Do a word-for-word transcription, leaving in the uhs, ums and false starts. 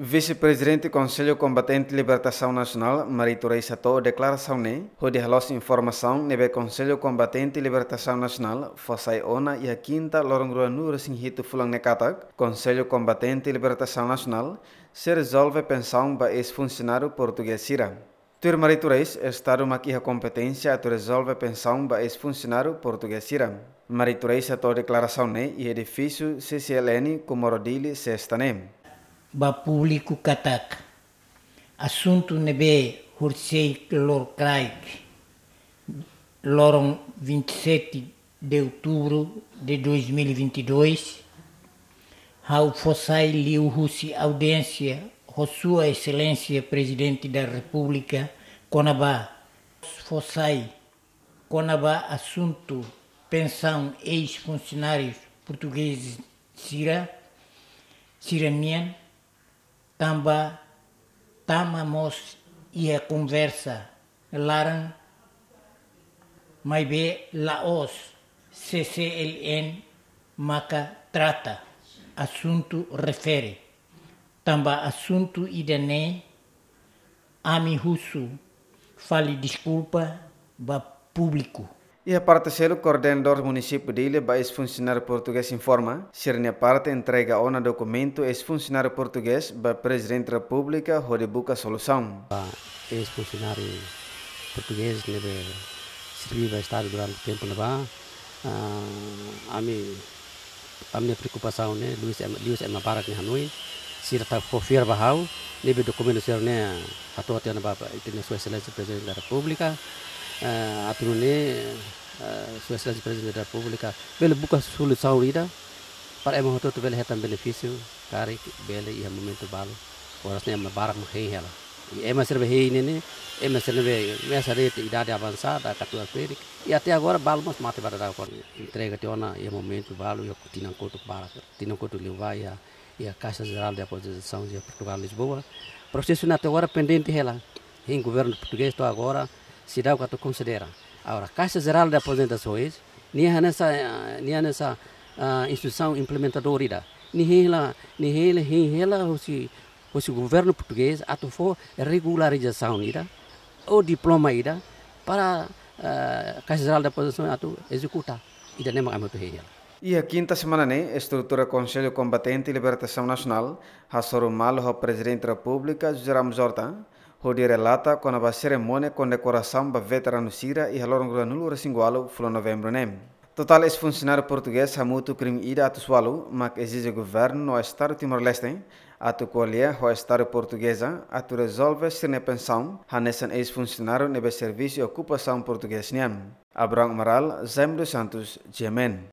Vise-Prezidente Konsellu Kombatente Libertasaun Nasionál, Marito Reis hato'o deklarasaun ne'e, hodi haloos informasaun ne'ebé Konsellu Kombatente Libertasaun Nasionál fó sai ona iha kinta loron ruanulu-resin-hitu fulan ne'e katak, Konsellu Kombatente Libertasaun Nasionál sei rezolve pensaun ba eis-funsionáriu portugés sira. Tuir Marito Reis, Estadu mak iha kompeténsia atu rezolve pensaun ba eis-funsionáriu portugés sira. Marito Reis hato'o deklarasaun ne'e iha edifísiu C C L N Comoro Dili, sesta ne'e. Ba públiku katak, asuntu ne'ebé horisehik loron kraik, loron vinte e sete de outubro de dois mil e vinte e dois, ha'u fó sai liuhusi audiénsia ho Sua Exelénsia Prezidente da Repúblika kona-ba, fó sai kona-ba asuntu pensaun eis-funsionárius portugés sira, sira-nian, tanba tama mós iha konversa laran, maibé la'ós C C L N maka trata asuntu refere. Tanba asuntu ida-ne'e, ami husu fali deskulpa ba públiku. Iha parte seluk, koordenadór munisípiu Dili ba eis-funsionáriu portugés informa, sira-nia parte entrega ona dokumentu eis-funsionáriu portugés ba Prezidente Repúblika hodi buka solusaun. Ba eis-funsionáriu portugés ne'ebé serví ba Estadu durante tempu ne'ebá, ah, ami, ami-nia preokupasaun ne'e, liuhusi ema, liuhusi ema barak nia hanoin, sira atu fó fiar ba ha'u, ne'ebé dokumentu sira-ne'e hato'o tiha ona ba, ba, ita-nia Sua Exelénsia Prezidente da Repúblika, eh, atu nune'e, eh, Sua Exelénsia Prezidente da Repúblika bele buka solusaun ida, para ema hotu-hotu bele hetan benefísiu, karik bele iha momentu balu, oras ne'e ema barak mak hein hela. I ema sira be hein ne'e, ema sira be mesak de'it idade avansada, katuas ferik. I até agora balu mós mate ba daudaun. Entrega tiha ona iha momentu balu, iha tinan kotuk barak, tinan kotuk liubá iha, iha Caixa Geral de Aposentação iha Portugal, Lisboa. Prosesu ne'e até agora pendente hela. Hein governu portugés to'o agora seidauk atu konsidera. Agora, Caixa Geral de Aposentações, nia hanesan, eh, nia hanesan, ah, instituisaun implementadora ida. Nia hein hela, nia hein hela, hein hela husi, husi governu portugés atu fó regularizasaun ida, ou diploma ida, para, eh, Caixa Geral de Aposentações atu ezekuta. Ida-ne'e mak ami atu hein hela. Iha kinta semana ne'e, estrutura Konsellu Kombatente Libertasaun Nasionál hasoru malu ho Prezidente Repúblika, José Ramos Horta, hodi relata kona-ba serimónia kondekorasaun ba veteranu sira iha loron ruanulu-resin-ualu fulan Novembru ne'e. Totál eis-funsionáriu portugés hamutuk rihun ida atus ualu mak ezije governu no Estadu Timor-Leste atu ko'alia ho Estadu Portugeza atu rezolve sira-nia pensaun hanesan eis-funsionáriu ne'ebé servisu iha okupasaun portugés nian. Abrão Amaral, Jaime dos Santos, G M N.